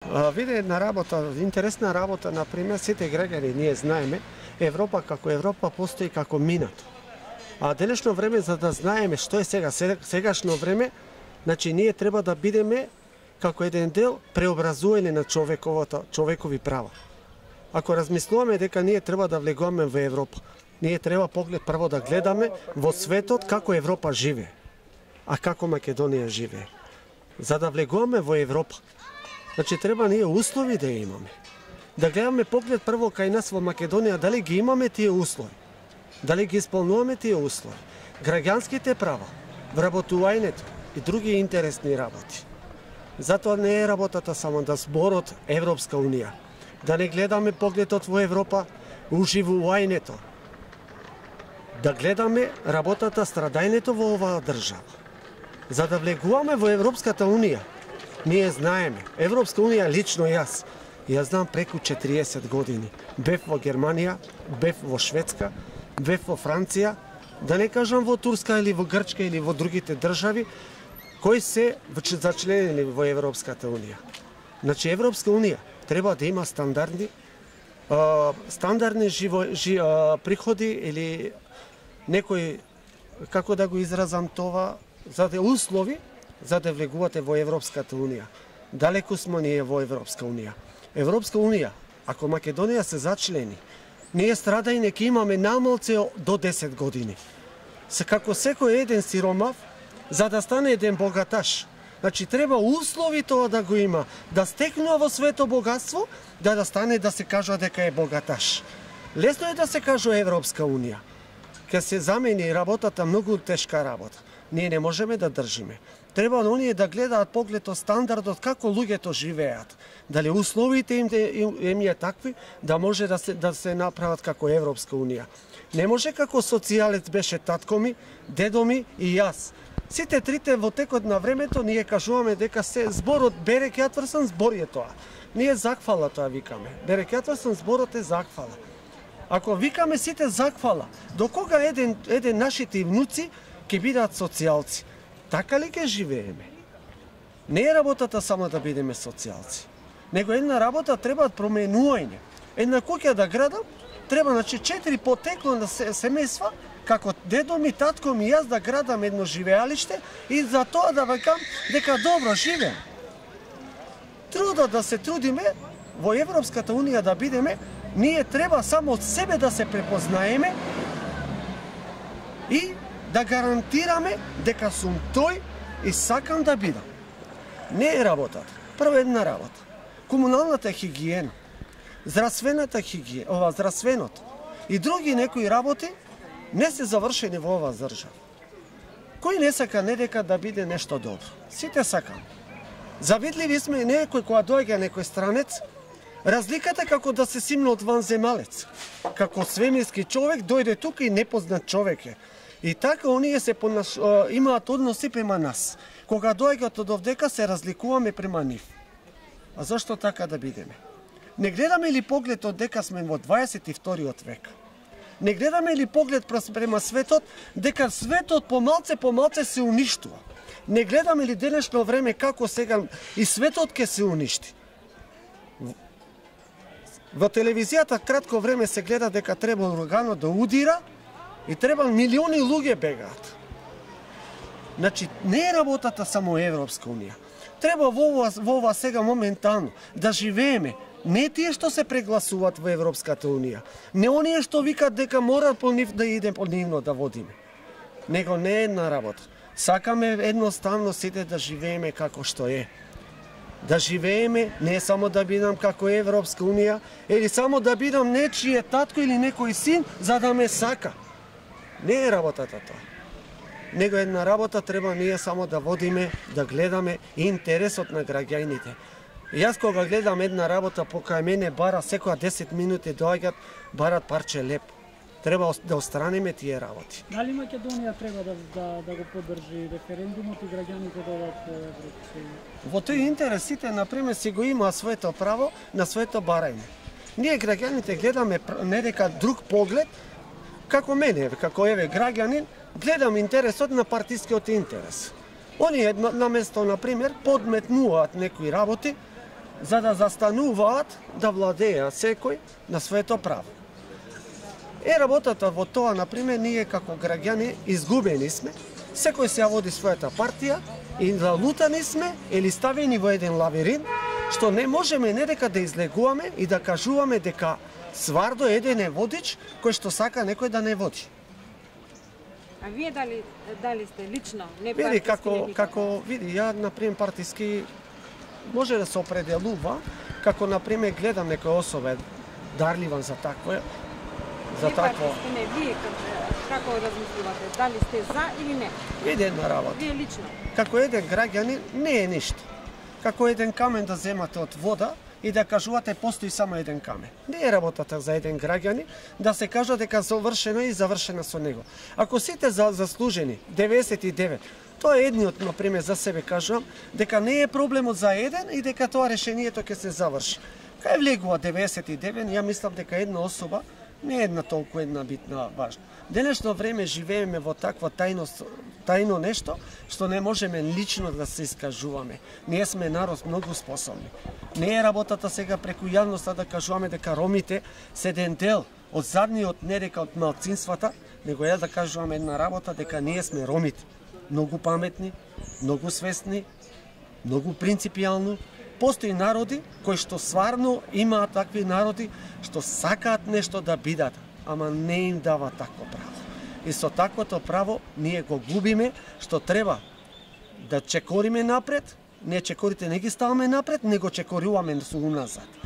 Виде една работа, интересна работа, например, сите граѓани ние знаеме, Европа како Европа постои како минато. А денешно време, за да знаеме што е сегашно време, значи ние треба да бидеме како еден дел преобразување на човекови права. Ако размислуваме дека ние треба да влегуваме во Европа, ние треба поглед прво да гледаме во светот како Европа живее, а како Македонија живее. За да влегуваме во Европа, значи треба ние услови да имаме. Да гледаме поглед прво кај нас во Македонија дали ги имаме тие услови. Дали ги исполнуваме тие услови. Граѓанските права, вработувањето и други интересни работи. Затоа не е работата само да зборот Европска Унија. Да не гледаме погледот во Европа, уживувањето. Да гледаме работата, страдањето во оваа држава. За да влегуваме во Европската Унија, ние знаеме, Европска Унија лично јас знам преку 40 години. Бев во Германија, бев во Шведска, бев во Франција, да не кажам во Турска или во Грчка или во другите држави, кои се зачленени во Европската Унија. Значи, Европска Унија треба да има стандардни приходи или некои, како да го изразам това, за да услови, за да влегувате во Европската Унија. Далеку смо ние во Европска Унија. Европска Унија, ако Македонија се зачлени, ние страдање ќе имаме намалце до 10 години. Како секој еден сиромав, за да стане еден богаташ, значи треба услови тоа да го има, да стекнува во свето богатство, да стане да се кажува дека е богаташ. Лесно е да се кажува Европска Унија. Ке се замени работата многу тешка работа. Ние не можеме да држиме. Треба оние да гледаат погледот стандардот како луѓето живеат. Дали условите им е такви да може да се направат како Европска Унија. Не може како социјалец беше татко ми, дедо ми и јас. Сите трите во текот на времето ние кажуваме дека се зборот Берек Јатварсон збор е тоа. Ние закфала тоа викаме. Берек Јатварсон зборот е закфала. Ако викаме сите закфала, до кога еден нашите внуци ќе бидат социјалци? Така ли ќе живееме? Не е работата само да бидеме социјалци, него една работа треба променување. Една куќа да градам, треба 4 потекло на семејства, како дедо ми, татко ми, јас да градам едно живеалиште и за тоа да викам дека добро живеем. Трудот да се трудиме во Европската Унија да бидеме, ние треба само од себе да се препознаеме и да гарантираме дека сум тој и сакам да бидам. Не е работата. Прво една работа. Комуналната хигиена, здравствената хигиена, здравственото и други некои работи не се завршени во оваа држава. Кој не сака не дека да биде нешто добро? Сите сакаме. Завидливи сме некој кога доаѓа некој странец, разликата како да се симне од ванземалец. Како свемирски човек дојде тука и непознат човек е. И така оние имаат односи према нас. Кога доаѓаат од овдека се разликуваме према нив. А зашто така да бидеме? Не гледаме ли погледот дека сме во 22 век? Не гледаме ли поглед према светот дека светот помалце се уништува? Не гледаме ли денешно време како сега и светот ќе се уништи? Во телевизијата кратко време се гледа дека треба ураганот да удира и треба милиони луѓе бегаат. Значи, не е работата само Европска Унија. Треба во ова сега моментално да живееме. Не тие што се прегласуваат во Европската Унија. Не оние што викат дека мора по нив да иде по нивно да водиме. Него не е една работа. Сакаме едноставно сите да живееме како што е. Да живееме, не само да бидам како Европска Унија, или само да бидам нечие татко или некој син за да ме сака. Не е работата тоа. Него една работа треба ние само да водиме, да гледаме интересот на граѓаните. Јас кога гледам една работа покај мене бара секоја 10 минути доаѓаат, барат парче леп. Треба да остраниме тие работи. Дали Македонија треба да го поддржи референдумот и граѓаните да одат во Европска Унија? Во тој интерес сите, например, си го имаа своето право на своето барање. Ние граѓаните гледаме не дека друг поглед, како мене, како граѓанин, гледам интересот на партискиот интерес. Оние наместо, например, подметнуваат некои работи, за да застануваат да владеат секој на своето право. Работата во тоа, например, ние како граѓани изгубени сме, секој се води својата партија и залутани сме или ставени во еден лавиринт, што не можеме не дека да излегуваме и да кажуваме дека свардо еден е водич кој што сака некој да не води. А вие дали сте лично не Види, партиски? како види, ја например партиски може да се определува, како например гледам некој особа дарлива за такво, Вие партиски не, вие како размислувате? Дали сте за или не? Види една работа. Вие лично? Како еден граѓанин не е ништо. Како еден камен да земате од вода и да кажувате постои само еден камен. Не е работата за еден граѓанин да се кажа дека завршено и завршено со него. Ако сите заслужени 99, тоа е едниот, например, за себе кажувам, дека не е проблемот за еден и дека тоа решението ќе се заврши. Кај влегува 99, ја мислам дека една особа не е една толку една битна важна. Денешно време живееме во такво тајно нешто, што не можеме лично да се искажуваме. Ние сме народ многу способни. Не е работата сега преку јавноста да кажуваме дека ромите се еден дел од задниот, не дека од малцинствата, него е да кажуваме една работа дека ние сме ромите. Многу паметни, многу свесни, многу принципијално. Постои народи кои што стварно имаат такви народи што сакаат нешто да бидат, ама не им дава такво право. И со таквото право ние го губиме, што треба да чекориме напред, не чекорите не ги ставаме напред, него чекоруваме со уназад.